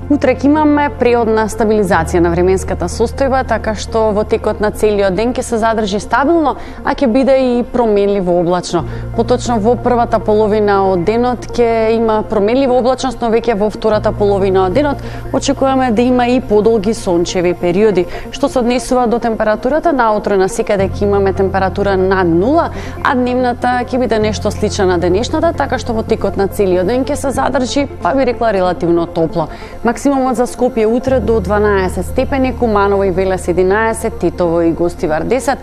Утре ќе имаме преодна стабилизација на временската состојба, така што во текот на целиот ден ќе се задржи стабилно, а ќе биде и променливо облачно. Поточно во првата половина од денот ќе има променлива облачност, но веќе во втората половина од денот очекуваме да има и подолги сончеви периоди. Што се однесува до температурата, наутро насекаде ќе имаме температура над 0, а дневната ќе биде нешто слична на денешната, така што во текот на целиот ден ќе се задржи, па би рекла релативно топло. Максимумот за Скопје утре до 12 степени, Куманово и Велес 11, Тетово и Гостивар 10,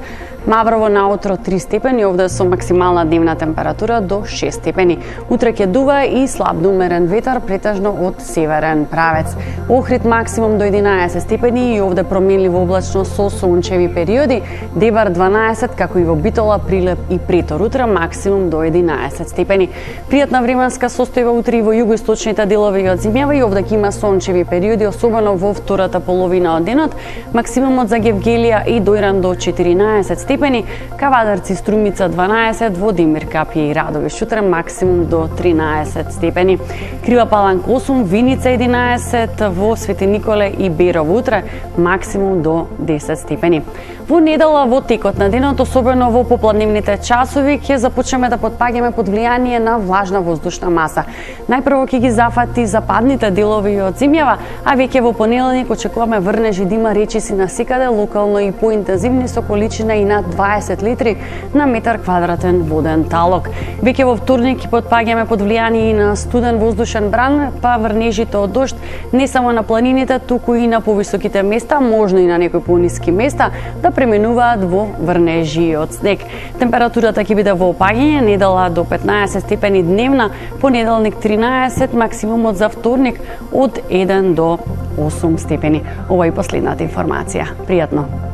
Маврово наутро 3 степени, овде со максимална дневна температура до 6 степени. Утре ќе дува и слаб умерен ветар, претежно од северен правец. Охрид максимум до 11 степени и овде променливо облачно со сончеви периоди, Дебар 12, како и во Битола, Прилеп и Претор. Утре максимум до 11 степени. Пријатна временска состојба утре и во југоисточните делови од земјава и овде ќе има сончеви периоди, особено во втората половина од денот. Максимумот за Гевгелија и Дојран до 14 степени, Кавадарци, Струмица 12, во Демир, Капје и Радовиш утре максимум до 13 степени. Крива Паланка 8, Виница 11, во Свети Николе и Берово утре максимум до 10 степени. Во недела во текот на денот, особено во попладневните часови, ќе започнеме да потпаѓаме под влијание на влажна воздушна маса. Најпрво ќе ги зафати западните делови од земјава, а веќе во понеделник очекуваме врнежи да има речиси насекаде, локално и поинтензивни со количина и над 20 литри на метар квадратен воден талок. Веќе во вторник ќе потпаѓаме под влијание на студен воздушен бран, па врнежите од дожд не само на планините, туку и на повисоките места, можно и на некои пониски места, да пременуваат во врнежи од снег. Температурата ќе биде во опаѓање, недела до 15 степени дневна, понеделник 13, максимумот за вторник од 1 до 8 степени. Ова е последната информација. Пријатно!